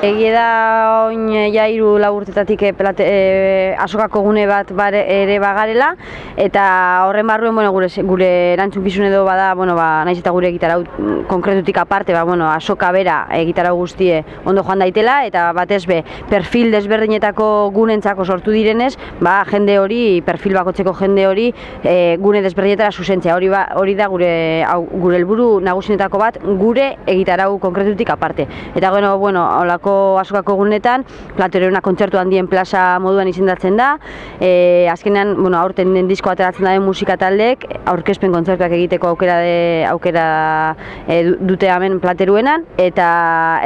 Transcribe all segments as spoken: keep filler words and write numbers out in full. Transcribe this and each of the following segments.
Egia da oin ja hiru lau urtetatik e, azokako gune bat bare, ere bagarela, eta horren barruen bueno, gure, gure erantzukizun edo bada, bueno, ba, naiz eta gure egitarau konkretutik aparte, ba, bueno, azoka bera egitarau guztie ondo joan daitela, eta batez be, perfil desberdinetako gunentzako sortu direnez, ba, jende hori, perfil bakotzeko jende hori, e, gune desberdinetara zuzentzea. Hori, ba, hori da gure, hau, gure helburu nagusinetako bat, gure egitarau konkretutik aparte. Eta bueno, bueno, holako azokako gunetan, Plateruena kontzertu handien plaza moduan izendatzen da, e, azkenean, bueno, aurten den disko ateratzen da den musika taldeek, aurkezpen kontzertuak egiteko aukera de, aukera e, dute hemen Plateruenan, eta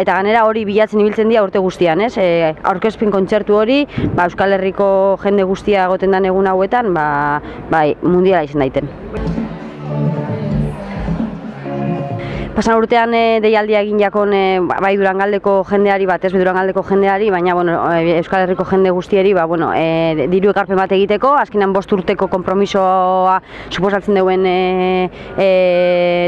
eta ganera hori bilatzen ibiltzen dira urte guztian, ez? E, aurkezpen kontzertu hori, ba, Euskal Herriko jende guztia egoten den egun hauetan, ba, bai, mundiala izan daiten. Pasan urtean e, deialdia egin jakon e, bai Durangaldeko jendeari, bat ez Durangaldeko jendeari, baina bueno, Euskal Herriko jende guztieri ba, bueno, e, diru ekarpen bat egiteko, azkenan bost urteko konpromisoa suposatzen duen e, e,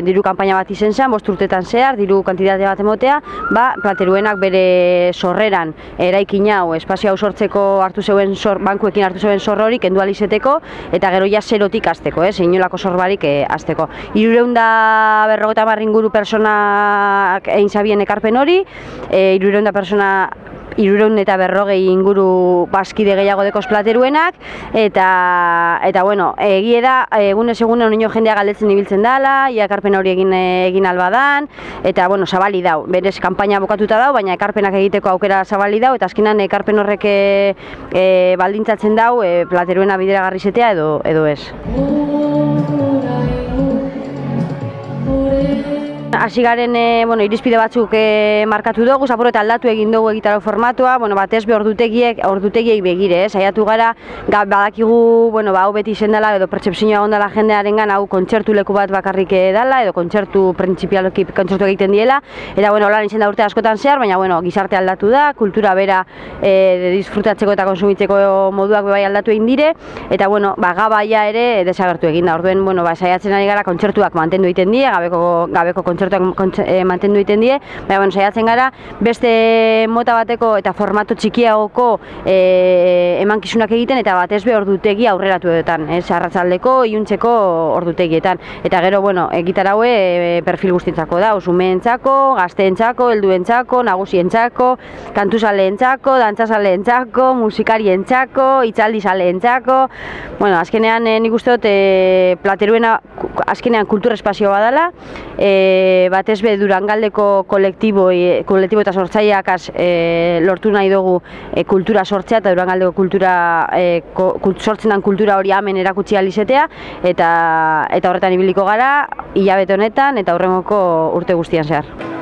diru kanpaina bat izen zen, bost urtetan zehar, diru kantitate bat emotea, ba, Plateruenak bere sorreran eraikin hau, espazio hau sortzeko hartu zeuen sor, bankuekin hartu zeuen zorro hori kendu ahal izeteko, eta gero ja zerotik hasteko, ez, inolako sorbarik e, hasteko. Hirurehun eta berrogeita hamar inguru personak egin zabien ekarpen hori, e, hirurehun persona hirurehun eta berrogei inguru bazkide gehiago dekoz Plateruenak, eta, eta bueno, egie da, egunez egun oino jendea galdetzen ibiltzen dela, ia ekarpen hori egin, egin albadan, eta bueno, zabali dau, berez kanpaina bokatuta dau, baina ekarpenak egiteko aukera zabali dau, eta azkenan ekarpen horrek e, e, baldintzatzen dau e, Plateruena bideragarri izatea edo, edo ez. Hasi garen e, bueno, irizpide batzuk e, markatu dugu, zaporo eta aldatu egin dugu egitarau formatua, bueno, batez be ordutegiek, ordutegiei begire, eh? Saiatu gara, ga, badakigu, bueno, ba, hau beti izen dela, edo pertsepzioa ondala jendearengan, hau kontzertu leku bat bakarrik dela, edo kontzertu printzipioki kontzertu egiten diela, eta bueno, holan izen da urte askotan zehar, baina bueno, gizarte aldatu da, kultura bera e, de disfrutatzeko eta konsumitzeko moduak bai aldatu egin dire, eta bueno, ba, gabaia ere desagertu egin da, orduen, bueno, ba, saiatzen ari gara kontzertuak mantendu egiten die, gabeko, gabeko kontzertuak e, mantendu egiten die, baina bueno, saiatzen gara beste mota bateko eta formato txikiagoko e, emankizunak egiten, eta batez be ordutegi aurreratu edotan, ez, arratsaldeko, iluntzeko ordutegietan, eta gero, bueno, egitaraue e, perfil guztientzako da, umeentzako, gazteentzako, helduentzako, nagusientzako, kantuzaleentzako, dantzazaleentzako, musikarientzako, hitzaldizaleentzako, bueno, azkenean e, nik uste dut e, Plateruena azkenean kultur espazio badala, e, batez be Durangaldeko kolektibo, e, kolektibo eta sortzaileak e, lortu nahi dugu e, kultura sortzea, eta Durangaldeko kultura e, ko, kult, sortzen den kultura hori hemen erakutsi ahal izatea, eta, eta horretan ibiliko gara hilabete honetan eta hurrengoko urte guztian zehar.